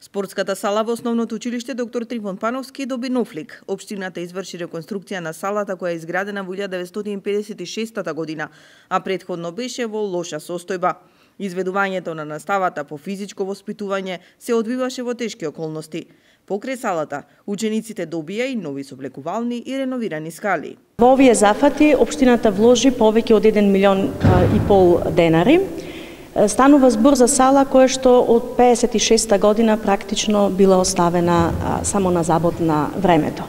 Спортската сала во основното училиште доктор Трифон Пановски доби нов лик. Општината изврши реконструкција на салата која е изградена во 1956 година, а претходно беше во лоша состојба. Изведувањето на наставата по физичко воспитување се одвиваше во тешки околности. Покрај салата, учениците добија и нови соблекувални и реновирани скали. Во овие зафати, општината вложи повеќе од 1,5 милион денари. Станува збор за сала која што од 56 година практично била оставена само на забот на времето.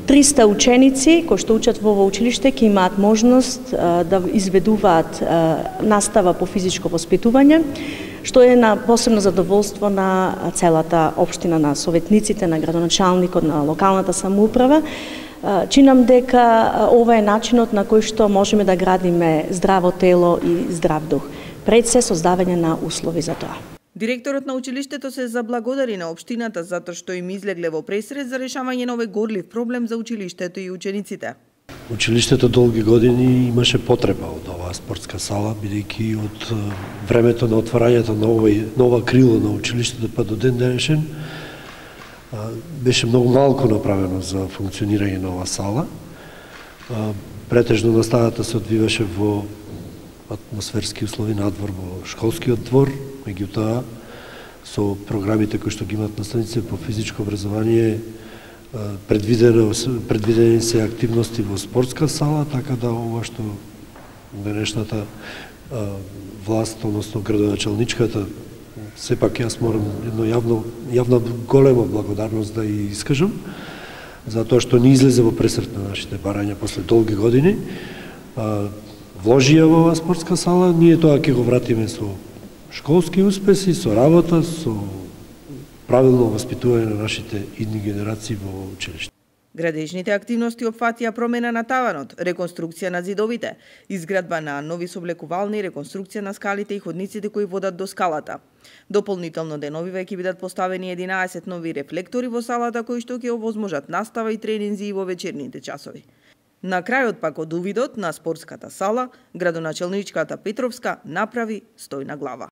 300 ученици кои што учат во училиште ќе имаат можност да изведуваат настава по физичко воспитување, што е на посебно задоволство на целата општина, на советниците, на градоначалникот, на локалната самоуправа. Чинам дека ова е начинот на кој што можеме да градиме здраво тело и здрав дух. Пред се создавање на услови за тоа. Директорот на училиштето се заблагодари на општината затоа што им излегле во пресред за решавање на овој горлив проблем за училиштето и учениците. Училиштето долги години имаше потреба од оваа спортска сала, бидејќи од времето на отварањето на нова крило на училиштето па до ден денешен беше многу малку направено за функционирање на оваа сала. Претежно наставата се одвиваше во атмосферски услови надвор во школскиот двор, меѓутоа со програмите кои што ги имаат наставниците по физичко образование предвидени се активности во спортска сала, така да ова што денешната власт, односно градоначалничката, сепак јас морам јавна голема благодарност да ја искажам, затоа што ни излезе во пресрет на нашите барања после долги години. Вложија во оваа спортска сала, ние тоа ќе го вратиме со школски успеси, со работа, со правилно воспитување на нашите идни генерации во училиште. Градежните активности опфатија промена на таванот, реконструкција на зидовите, изградба на нови соблекувални, реконструкција на скалите и ходниците кои водат до скалата. Дополнително деновиве ќе бидат поставени 11 нови рефлектори во салата кои што ќе овозможат настава и тренинзи и во вечерните часови. На крајот пак од увидот на спортската сала, градоначалничката Петровска направи стојна глава.